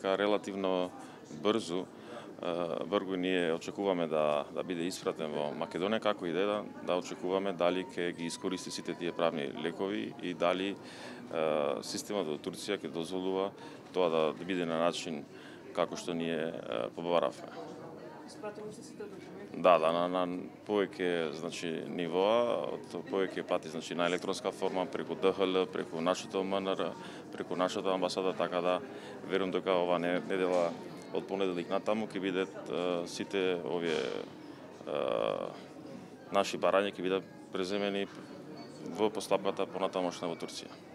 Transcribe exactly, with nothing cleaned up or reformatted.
така релативно брзо Бргој ние очекуваме да да биде испратен во Македонија, како и да е, да очекуваме дали ќе ги искористи сите тие правни лекови и дали е, системот во Турција ќе дозволува тоа да, да биде на начин како што ние е, побаравме. Испратило сте сите документи? Да, да, на, на повеќе значи нивоа, од повеќе пати значи на електронска форма, преку Д Х Л, преку нашето М Н Р, преку нашата амбасада, така да верувам дека ова недела од понеделник натаму ќе бидат е, сите овие е, наши барања ќе бидат преземени во постапката понатамошна во Турција.